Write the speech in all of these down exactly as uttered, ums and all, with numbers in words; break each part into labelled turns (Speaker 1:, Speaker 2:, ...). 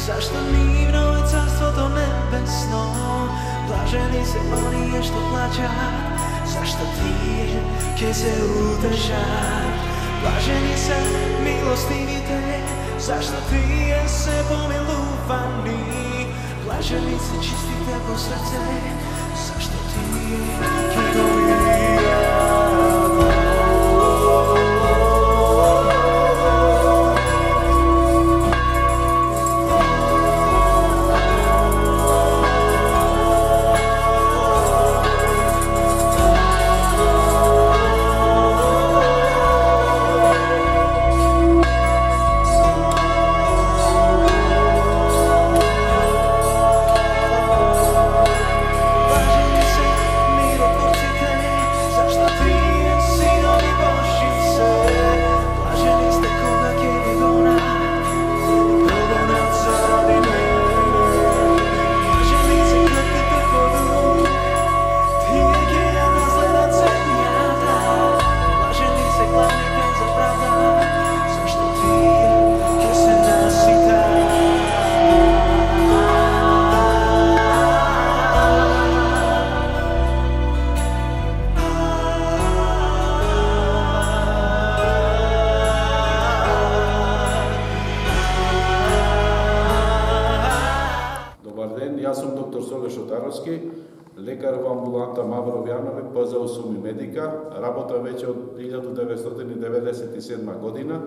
Speaker 1: Зашто нивно е царството небесно, блажени се оние што плачат, зашто тие ќе се утешат. Блажени се милостивите, зашто тие се помилувани. Блажени се чистите по срце, зашто тие ќе го видат.
Speaker 2: Лекар во амбуланта Мавро Вјанови, П З О Суми Медика, работа веќе од илјада деветстотини деветдесет и седма година.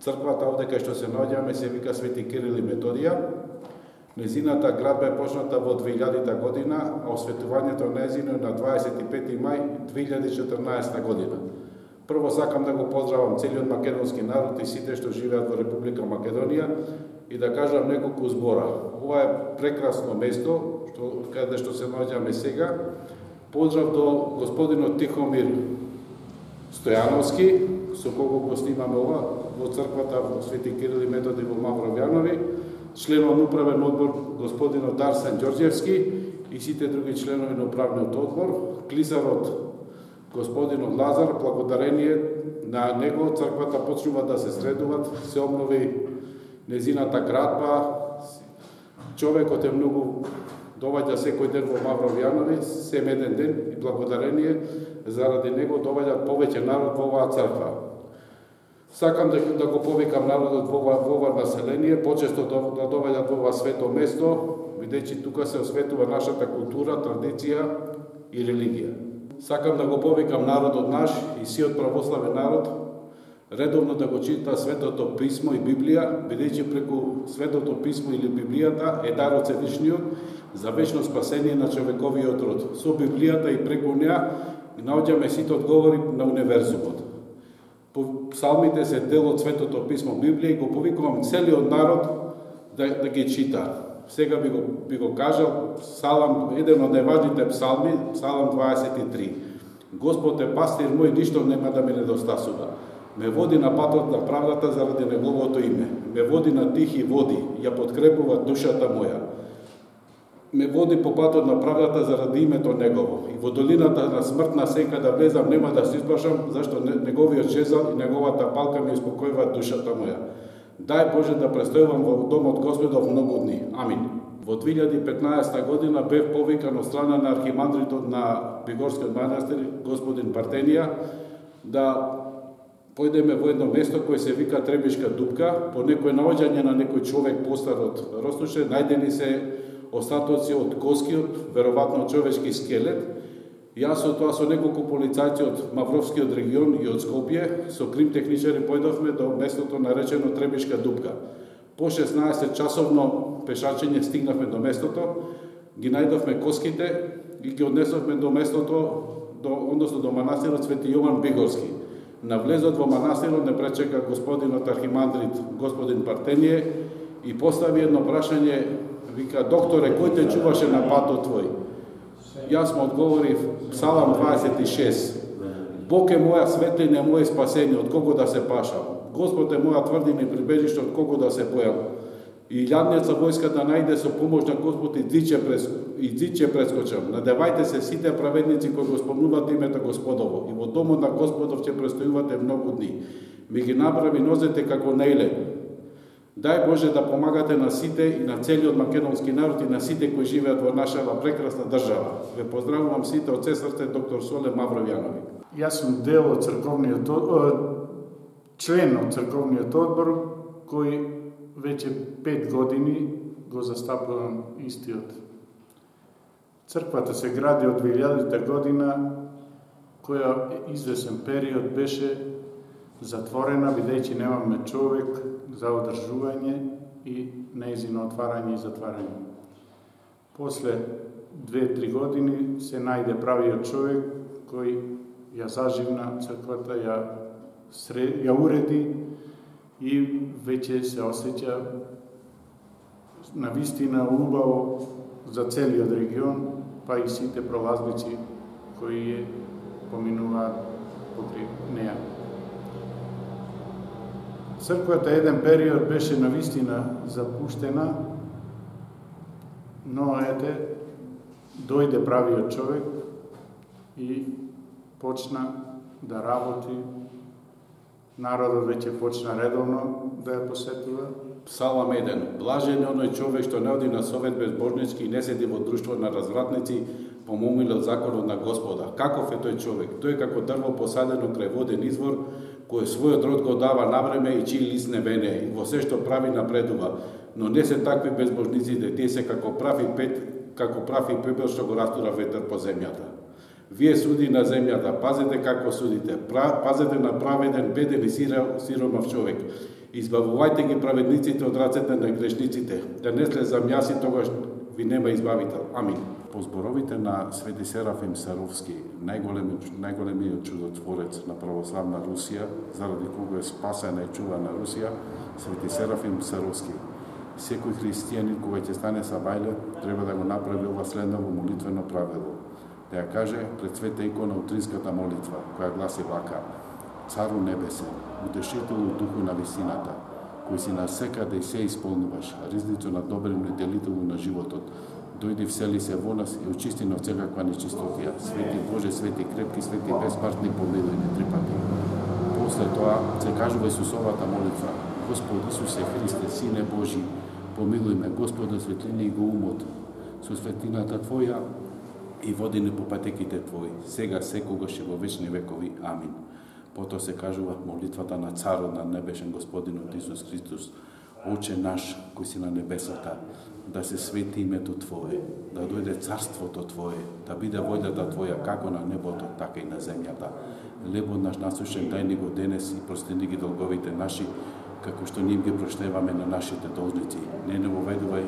Speaker 2: Црквата овде кај што се наоѓаме се вика Свети Кирил и Методија. Незината градба е почната во две илјадита година, а осветувањето нејзино е на дваесет и пети мај две илјади и четрнаесетта година. Прво сакам да го поздравам целиот македонски народ и сите што живеат во Република Македонија и да кажам неколку збора. Ова е прекрасно место, што, каде што се наоѓаме сега. Поздрав до господинот Тихомир Стојановски, со кого го снимаме ова во црквата во Свети Кирил и Методи во Мавро Вјанови, членот на управен одбор господинот Дарсен Ѓорѓевски и сите други членови на управниот одбор, клисарот господинот Лазар, благодарение на него црквата почнува да се средуват, се обнови незината градба, човекот е многу доваѓа секој ден во Мавро Вјанови, сем еден ден и благодарение заради него доваѓа повеќе народ во оваа црква. Сакам да, да го повикам народот во ова население, почесто да доваѓат во ова свето место, бидејќи тука се осветува нашата култура, традиција и религија. Сакам да го повикам народот наш и сиот православен народ редовно да го чита Светото Писмо и Библија, бидејќи преку Светото Писмо или Библијата е дар од Севишниот за вечно спасение на човековиот род. Со Библијата и преку неа наоѓаме сите одговори на универзумот. Псалмите се дел од Светото Писмо Библија и го повикувам целиот народ да, да ги чита. Сега би го, би го кажал Псалам, еден од најважните псалми, Псалам дваесет и три. Господ е пастир мој, ништо нема да ми недостасува. Ме води на патот на правдата заради неговото име. Ме води на тихи води, ја подкрепува душата моја. Ме води по патот на правдата заради името негово. И во долината на смртна сенка да влезам нема да се исплашам, зашто неговиот жезал и неговата палка ми успокојуваат душата моја. Дај Боже да престојувам во домот Господов многу дни. Амин. Во две илјади и петнаесетта година бев повикан од страна на архимандритот на Бигорскиот манастир, господин Партенија, да појдеме во едно место кое се вика Требишка дупка, по некој наоѓање на некој човек постар од Ростуше, најдени се остатоци од коскиот, веројатно човечки скелет. Јас со тоа со неколку полицајци од Мавровскиот регион и од Скопје, со крим техничари појдовме до местото наречено Требишка дупка. По шеснаесет часовно пешачење стигнавме до местото, ги најдовме коските и ги однесовме до местото, до, односно до манастирот Свети Јован Бигорски. На влезот во манастирот не пречека господинот архимандрит, господин Партенија, и постави едно прашање, вика: докторе, кој те чуваше на патот твој? Јас му одговорив Псалам дваесет и шест. Бог е моја светлина, моје спасение, од кого да се пашам. Господ е моја тврдина и прибежиште, од кого да се бојам. И јадница војска да најде со помош на Господ и дзиче прес и дзиче прескочам. Надевајте се сите праведници кои го спомнуваат името Господово и во домот на Господов ќе престојувате многу дни. Ми ги направи нозете како нејлен. Дај Боже да помагате на сите и на целиот македонски народ и на сите кои живеат во нашава прекрасна држава. Ве поздравувам сите од се срце, доктор Соле Мавровјанови.
Speaker 3: Јас сум дел од црковниот член од црковниот одбор кој веќе пет години го застапувам истиот. Црквата се гради од две илјадета година, која извесен период беше затворена, бидејќи немаме човек за одржување и нејзино отварање и затварање. После две-три години се најде правиот човек кој ја заживна црквата, ја, сред, ја уреди и веќе се осеќа навистина убаво за целиот регион, па и сите пролазници кои поминуваат покрај неа. Црквата еден период беше навистина запуштена, но ете, дојде правиот човек и почна да работи. Народот веќе почна редовно да ја посетува.
Speaker 2: Псалам еден. Блажен е оној човек што не оди на совет безбожнички и не седи во друштво на развратници, помомилот законот на Господа. Каков е тој човек? Тој е како дрво посадено крај воден извор, кој својот род го дава навреме и чиј лист не вене, и во се што прави напредува. Но не се такви безбожниците, тие се како прави пет, како прави пепел што го растура ветер по земјата. Вие суди на земјата, пазете како судите, пазете на праведен, беден и сиромав човек. Избавувајте ги праведниците од рацете на грешниците, да не слезам јас и тогаш ви нема избавител. Амин. По зборовите на Свети Серафим Саровски, најголемиот чудотворец на православна Русија, заради кого е спасена и чувана Русија, Свети Серафим Саровски. Секој христијанин кога ќе стане сабајле, треба да го направи ова следново молитвено правило. Да ја каже пред света икона утринската молитва, која гласи вака: Цару небесен, утешителу духу на висината, кој си насекаде и се исполнуваш, ризницу на добрину и делителу на животот, дојди всели се во нас и очисти на всекаква нечистотија. Свети Боже, свети крепки, свети безсмртни, помилуј не три пати. После тоа се кажува Исусовата молитва: Господ Исусе Христе, Сине Божи, помилуј ме, Господа, светлини го умот, со светлината Твоја и води не по патеките Твои, сега, секогаш и во вечни векови. Амин. Потоа се кажува молитвата на Царот на небешен Господинот Исус Христос: Оче наш, кој си на небесата, да се свети името Твое, да дојде царството Твое, да биде вољата Твоја како на небото, така и на земјата. Лебот наш насушен дај ни го денес и прости ни ги долговите наши, како што ние ги проштеваме на нашите должници. Не не воведувај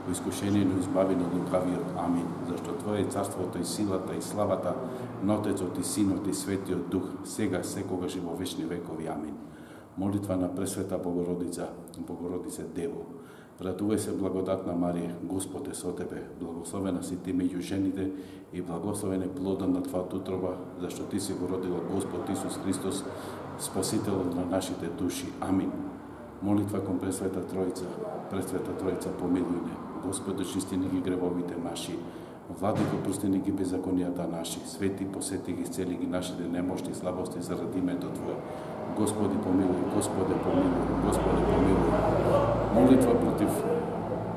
Speaker 2: во искушение, но избави од лукавиот. Амин. Зашто Твое е царството и силата и славата на Отецот и Синот и Светиот Дух, сега, секогаш и во вечни векови. Амин. Молитва на Пресвета Богородица, Богородице Дево. Радувај се, благодатна Марија, Господ е со тебе, благословена си ти меѓу жените и благословен е плодот на твојата утроба, зашто ти си го родила Господ Исус Христос, Спасителот на нашите души. Амин. Молитва кон Пресвета Тројца. Пресвета Тројца, помилуј не. Господи, очисти ни ги гревовите наши. Владико, прости ни ги беззаконијата наши. Свети, посети ги, исцели ги нашите немошти и слабости заради името Твое. Господи, помилуј, Господи, помилуј, Господи, помилуј. Молитва против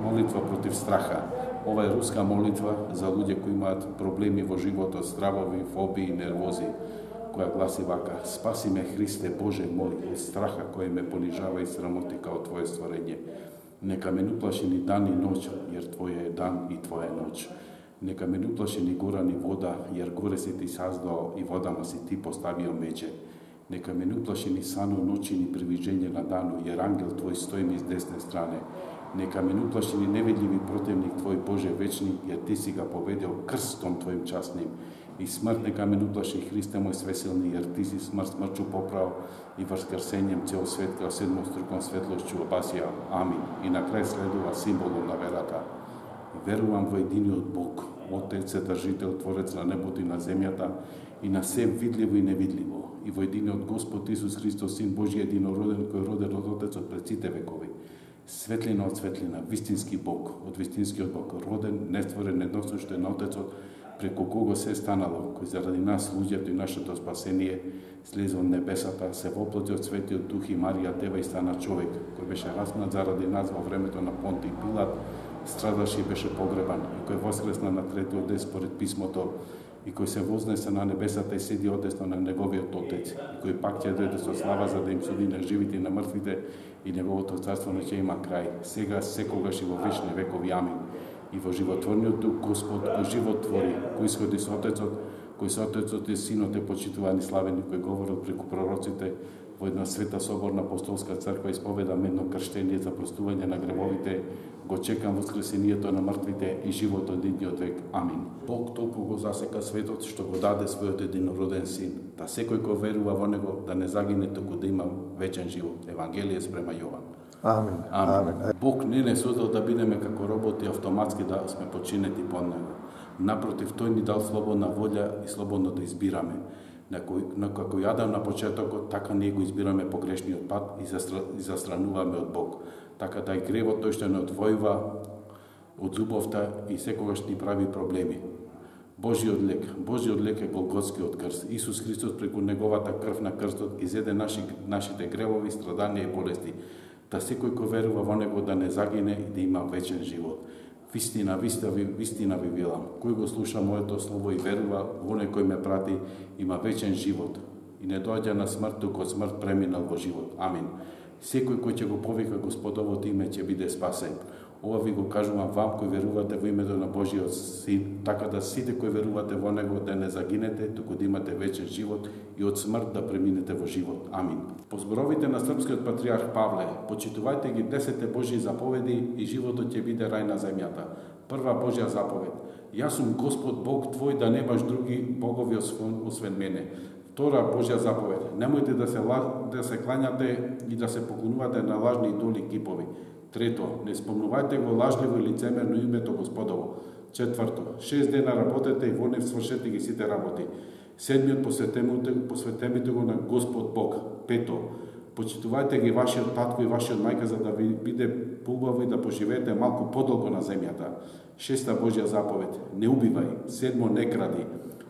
Speaker 2: молитва против страха. Ова е руска молитва за луѓе кои имаат проблеми во животот, стравови, фобии, нервози, која гласи вака: Спаси ме, Христе Боже мој, од страха кој ме понижава и срамоти као Твое створење. Нека ме не уплаши ни дан и ноќ, јер Твоја е дан и Твоја е ноќ. Нека ме не уплаши ни гора ни вода, јер горе си ти саздал и водама си ти поставио меѓе. Нека ме не уплаши ни сано ноќи ни привиđење на дану, јер ангел Твој стои ми с десне стране. Нека ме не уплаши ни невидливи противник Твој Боже вечни, јер Ти си га победил крстом Твоим частним. И смрт нека ме не уплаши, Христе мој свесилни, јер Ти си смрт смрчу поправ и воскресением цел свет као седмоструком светлошќу опасија. Амин. И на крај следува символот на верата. Верувам во единиот Бог, Отец, Седржител, Творец на небото и на земјата, и на се видливо и невидливо, и во единиот Господ Исус Христос, Син Божи, единороден, кој роден од Отецот пред сите векови. Светлина од светлина, вистински Бог, од вистинскиот Бог, роден, нестворен, едносушен на Отецот, преку кого се станало, кој заради нас, луѓето и нашето спасение, слезе од небесата, се воплоти од Светиот Дух и Марија Дева и стана човек, кој беше распнат заради нас во времето на Понтиј Пилат, страдаше и беше погребан, и кој воскресна на третиот ден според писмото, и кој се вознесе на небесата и седи одесно на неговиот Отец, и кој пак ќе дојде со слава за да им суди на живите и на мртвите, и неговото царство не ќе има крај, сега, секогаш и во вечни векови. Амин. И во животворниот Дух Господ, кој живот твори, кој исходи со Отецот, кој со Отецот и Синот е почитувани славени, кој говорил преку пророците, во една света соборна апостолска црква исповедам едно крштение за простување на гревовите, го чекам воскресението на мртвите и животот идниот век. Амин. Бог толку го засека светот што го даде својот единороден Син, да секој кој верува во него да не загине, туку да има вечен живот. Евангелие спрема Јован.
Speaker 4: Амин.
Speaker 2: Амин.
Speaker 4: Амин.
Speaker 2: Бог не не создал да бидеме како роботи автоматски да сме починети под него. Напротив, тој ни дал слободна волја и слободно да избираме. На кој, на како и Адам на почетокот, така ние го избираме погрешниот пат и, застра, и застрануваме од Бог. Така да и гревот тој што не одвојува од љубовта и секогаш ни прави проблеми. Божиот лек, Божиот лек е Голготскиот крст. Исус Христос преку неговата крв на крстот изеде наши, нашите гревови, страданија и болести, да секој кој верува во него да не загине и да има вечен живот. Вистина, вистина, вистина ви велам, кој го слуша моето слово и верува во оној кој ме прати, има вечен живот и не доаѓа на смрт, туку од смрт преминал во живот. Амин. Секој кој ќе го повика Господовото име ќе биде спасен. Ова ви го кажувам вам кои верувате во името на Божиот Син, така да сите кои верувате во него да не загинете, туку да имате вечен живот и од смрт да преминете во живот. Амин. По зборовите на српскиот патриарх Павле, почитувајте ги десете Божји заповеди и животот ќе биде рај на земјата. Прва Божја заповед: Јас сум Господ Бог твој, да немаш други богови освен мене. Втора Божја заповед: немојте да се да се клањате и да се поклонувате на лажни идоли кипови. Трето, не спомнувајте го лажливо и лицемерно името Господово. Четврто, шест дена работете и во нив свршете ги сите работи. Седмиот посветемите го на Господ Бог. Пето, почитувајте ги вашиот татко и вашиот мајка за да ви биде поубаво и да поживеете малку подолго на земјата. Шеста Божја заповед: не убивај. Седмо, не кради.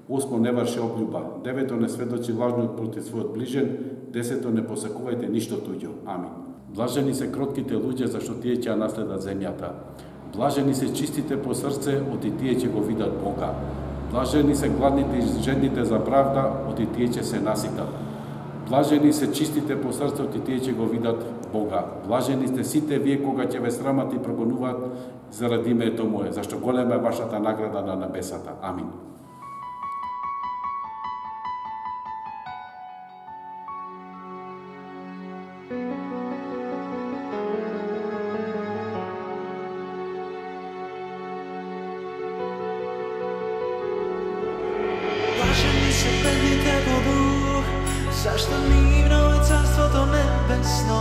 Speaker 2: Осмо, не врши облюба. Девето, не сведочи лажно против својот ближен. Десето, не посакувајте ништо туѓо. Амин. Блажени се кротките луѓе, зашто тие ќе наследат земјата. Блажени се чистите по срце, оти тие ќе го видат Бога. Блажени се гладните и жедните за правда, оти тие ќе се наситат. Блажени се чистите по срце, оти тие ќе го видат Бога. Блажени сте сите вие кога ќе ве срамат и прогонуваат заради името мое, зашто голема е вашата награда на небесата. Амин.
Speaker 1: Зашто нивно е царството небесно.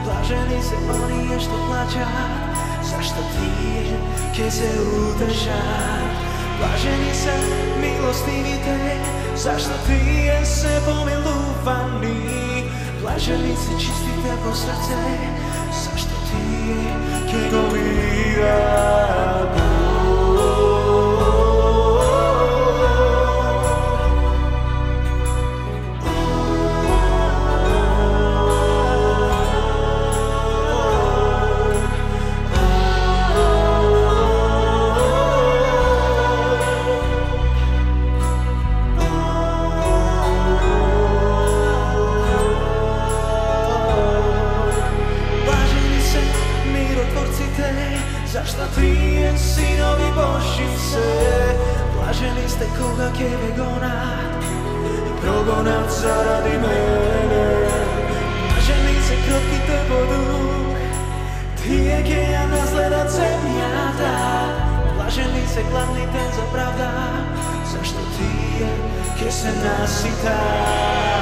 Speaker 1: Блажени се оние што плачат, зашто тие ќе се утешат. Блажени се милостивите, зашто тие се помилувани. Блажени се чистите по срце, зашто тие ќе го видат Бог. Зашто тие синови Божји се. Блажени сте кога ќе ве гонат и прогонат заради мене. Блажени се кротките по дух, тие ќе ја наследат земјата. Блажени се гладните за правда, зашто тие ќе се наситат.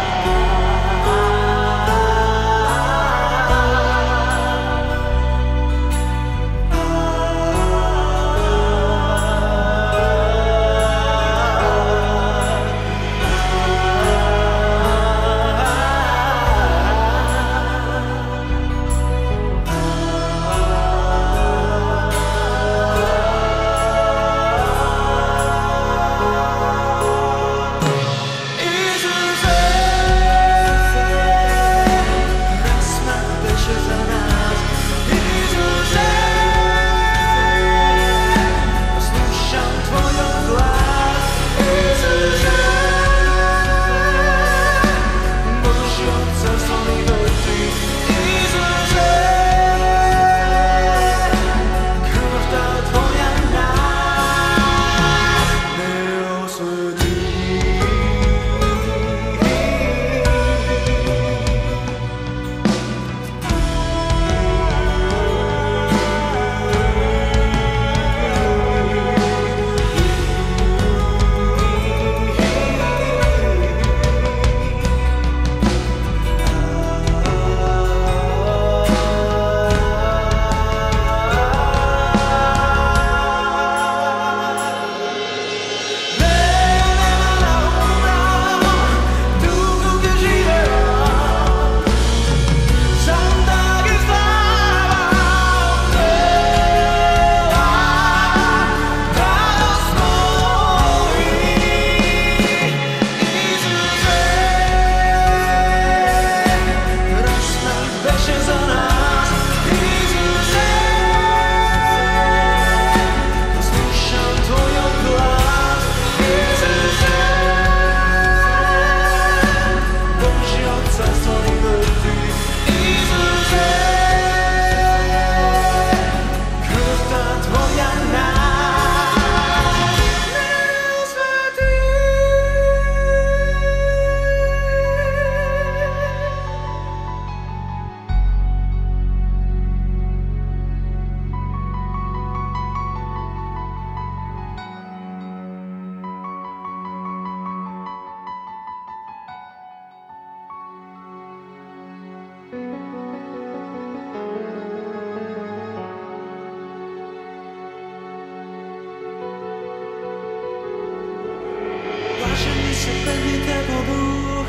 Speaker 1: светлите по дух,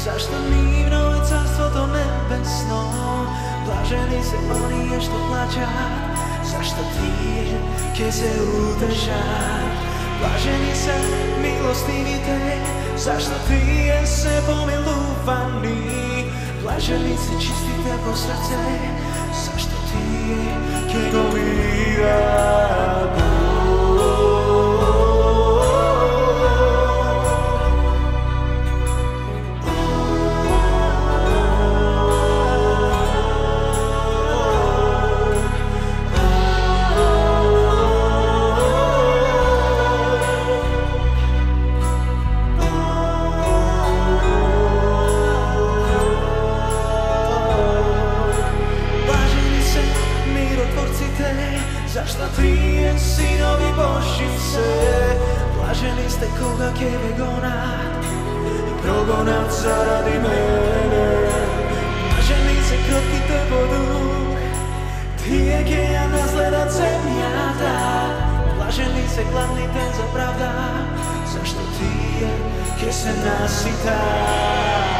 Speaker 1: зашто нивно е царството небесно. Блажени се оние што плачат, зашто тие ќе се утешат. Блажени се милостивите, зашто тие се помилувани. Блажени се чистите по срце, зашто тие ќе го видат Бог. Зашто тие синови Божји се, блажени сте кога ќе ве гонат и прогонат заради мене. Блажени се кротките по дух, тие ќе ја наследат земјата. Блажени се гладните за правда, зашто тие ќе се наситат.